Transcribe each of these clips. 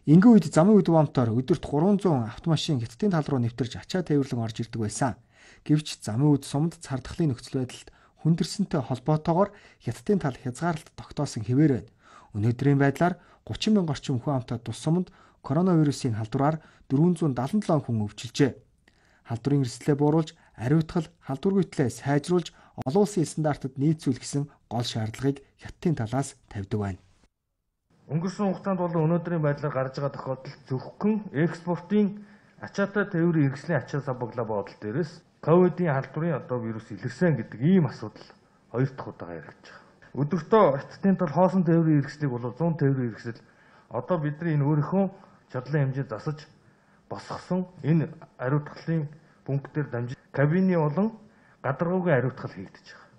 Энгийн үед замын үд бомтоор өдөрт 300 автомашин хятадын тал руу нэвтэрж ачаа тээвэрлэн орж ирдэг байсан. Гэвч замын үд сумд цардахлын нөхцөл байдалд хүндэрсэнтэй холбоотойгоор хятадын тал хязгаарлалт тогтоосон хэвээр байна. Өнөөдрийн байдлаар 30 мянга орчим хүн амтай тус сумд коронавирусын халдвараар 477 хүн өвчилжээ. Халдварын эрсдлээ бууруулж, ариутгал, халдваргүйтлээ сайжруулж, олон улсын стандартад нийцүүлэх гэсэн гол шаардлагыг хятадын талаас тавьдаг байна. Өнгөрсөн хугацаанд болон өнөөдрийн байдлаар гарч байгаа тохиолдолд зөвхөн экспортын ачаатай тээврийн хэрэгслийн ачаа сабаглаа бодол дээрээс ковидын халдварын вирус илэрсэн гэдэг ийм асуудал хоёр дахь удаага яригдж байгаа. Өдөртөө хятадын тал хоосон тээврийн хэрэгслийг бол 100 тээврийн хэрэгсэл одоо бидний энэ өөрийнхөө чадлын хэмжээ засаж босгосон энэ ариутгалын пунктээр дамжиж кабины болон гадаргуугийн ариутгал хийгдэж байгаа.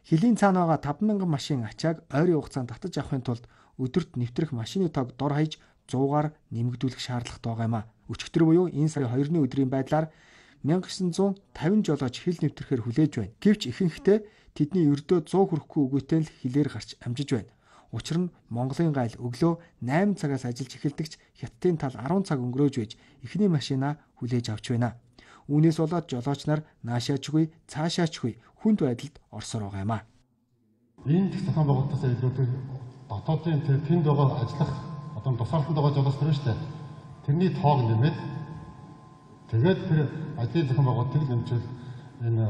Хилийн цаана байгаа 50000 машин ачааг ойрын хугацаанд татаж авахын тулд өдөрт нэвтрэх машины тоог дор хаяж 100-аар нэмэгдүүлэх шаардлагатай байгаа юм а. Өчигдөр буюу энэ сарын 2-ны өдрийн байдлаар 1950 жолооч хил нэвтрэхээр хүлээж байна. Гэвч ихэнхдээ тэдний өрдөө 100 хүрэхгүй үгүйтэй л хилээр гарч амжиж байна. Учир нь Монголын гайл өглөө 8 цагаас ажиллаж эхэлдэгч хятадын тал 10 цаг өнгөрөөж байж эхний машинаа хүлээж авч байна. Үүнээс болоод жолооч нар наашаачгүй, цаашаачгүй хүнд байдалд орсоор байгаа юм а. Энэ зохион байгуулалтаас илүүтэй дотоодын тэнд байгаа ажиллах одоо тусаалтанд байгаа жолооч нар шүү дээ. Тэрний тоог нэмээд тэгээд тэр ажлын зохион байгуулалтыг нэмжүүл энэ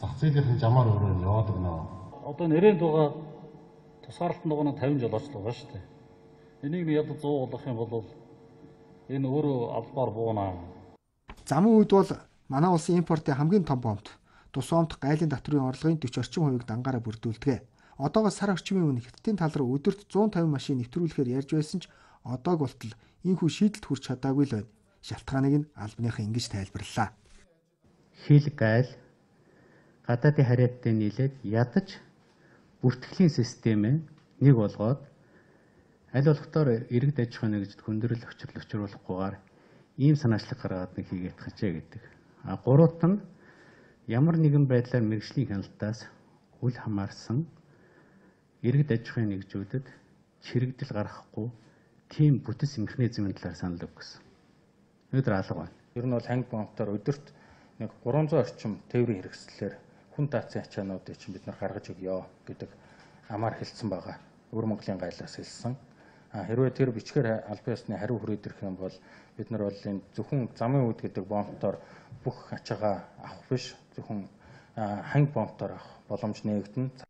зах зээлийн жамаар өөрөө яваад өгнө. Одоо нэрээд байгаа тусгаарлалтанд байгаа 50 жолооч л байгаа шүү дээ. Энийг яг 100 болгох юм бол энэ өөрөө албаар буунаа. Замын үед бол манай улсын импортын хамгийн том бомт тус омт гайлын татврын орлогын 40 орчим хувийг дангаараа бүрдүүлдэг. Одоогоос сар орчмын өмнө хятадын тал руу өдөрт 150 машин нэвтрүүлэхээр ярьж байсан ч одоог болтол энэхүү шийдэлд хүрч чадаагүй л байна. Шалтгааныг нь албаныхан ингэж тайлбарллаа. Хил гайл гадаадын хариадтай нийлээд ядаж бүртгэлийн систем нэг болгоод аль болохдоор иргэд аж ахуйн нэгжид хүндрэл учруулахгүйгээр ийм санаачлаг гаргаад нэг хийгээд хачаа гэдэг. Гуравт нь ямар нэгэн байдлаар мэргэжлийн хяналтаас үл хамаарсан иргэд аж ахуйн нэгжүүдэд чирэгдэл гаргахгүй тийм бүтэц механизмын талаар санал өгсөн. Өнөөдөр алга байна. Ер нь бол ханги бомтоор өдөрт нэг 300 орчим тээврийн хэрэгслэлээр хүн таацын ачаануудыг чинь бид нар гаргаж өгье гэдэг амаар хэлсэн байгаа. Өвөр Монголын гайлаас хэлсэн. Хэрвээ тэр бичгээр албан ёсны хариу хүрээд ирэх юм бол бид нар бол энэ зөвхөн замын үд гэдэг бомтоор бүх ачаагаа авах биш, зөвхөн ханги бомтоор авах боломж нээгдэнэ.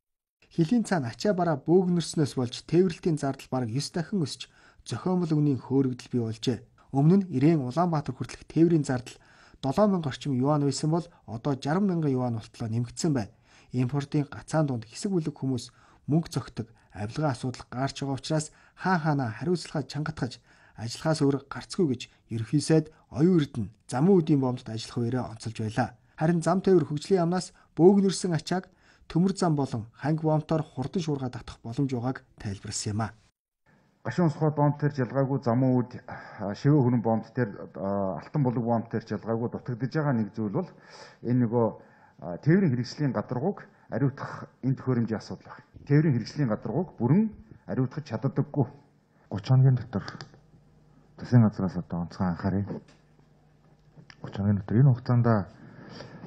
Хилийн цаана ачаа бараа бөөгнөрснөөс болж тээвэрлтийн зардал бараг 9 дахин өсч зохиомжтой үнийн хөөрөгдөл бий болжээ. Өмнө нь Ирээн Улаанбаатар хүртэлх тээврийн зардал 7000 орчим юан байсан бол одоо 60,000 юан болтлоо нэмэгдсэн байна. Импортын гацаан дунд хэсэг бүлэг хүмүүс мөнгө зөгтөг, авилгын асуудал гарч байгаа учраас хаана хариуцлагаа чангатгаж ажиллахаас өөр гарцгүй гэж ерөнхий сайд оюун эрдэнэ замын үдийн бомдод ажиллах үерээ онцолж байлаа. Харин зам тээвэр хөгжлийн яамнаас бөөгнөрсөн ачааг төмөр зам болон ханги бомтоор хурдан шуурга татах боломж байгааг тайлбарласан юм а. Гашуун сухад бомт төр жалгаагүй замын үд шивээ хөрөн бомт төр алтан булаг бомт төр жалгаагүй дутагдж байгаа нэг зүйл бол энэ нөгөө тээврийн хэрэгслийн гадаргууг ариутгах энэ төхөөрөмжийн асуудал байна. Тээврийн хэрэгслийн гадаргууг бүрэн ариутгах чаддаггүй. 30 хоногийн дотор засгийн газраас одоо онцгой анхаарай. 30 хоногийн дотор энэ хугацаанд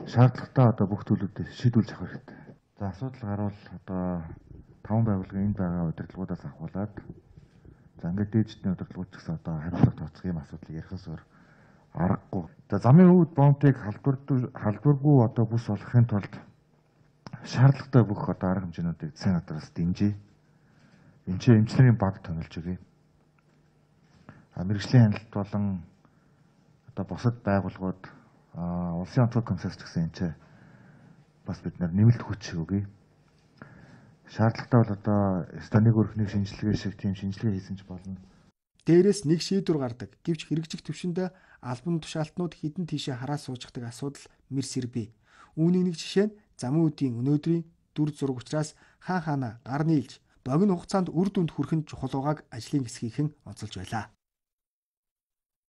шаардлагатай одоо бүх төлөвлөлтөд шийдүүлж авах хэрэгтэй. За асуудал гарвал одоо 5 байгууллагын энд байгаа удирдлагуудаас ахуулаад за ингээд дээждний удирдлагууд ч гэсэн одоо хариуцлага тооцох юм асуудал ярихаас өөр аргагүй. За замын үд бомтыг халдваргүй одоо бүс болгохын тулд шаардлагатай бүх одоо арга хэмжээнүүдийг засгийн газраас дэмжиж эмчнэрийн баг томилж өгье. Мэргэжлийн хяналт болон одоо бусад байгууллагууд улсын онцгой комиссаас ч гэсэн энэ бас бид нэмэлт хүч өгье. Шаардлагатай бол одоо станыг өрхнийг шинжилгээ шиг тийм шинжилгээ хийсэн ч болно. Дээрээс нэг шийдвэр гардаг. Гэвч хэрэгжих төвшөндөө албан тушаалтнууд хідэн тийшээ хараа сууждаг асуудал мэрс ирбий. Үүний нэг жишээ нь замын үдийн өнөөдрийн дүр зураг учраас хаана гар нийлж богино хугацаанд үр дүнд хүрэхэд чухал байгааг ажлын хэсгийнхэн онцолж байлаа.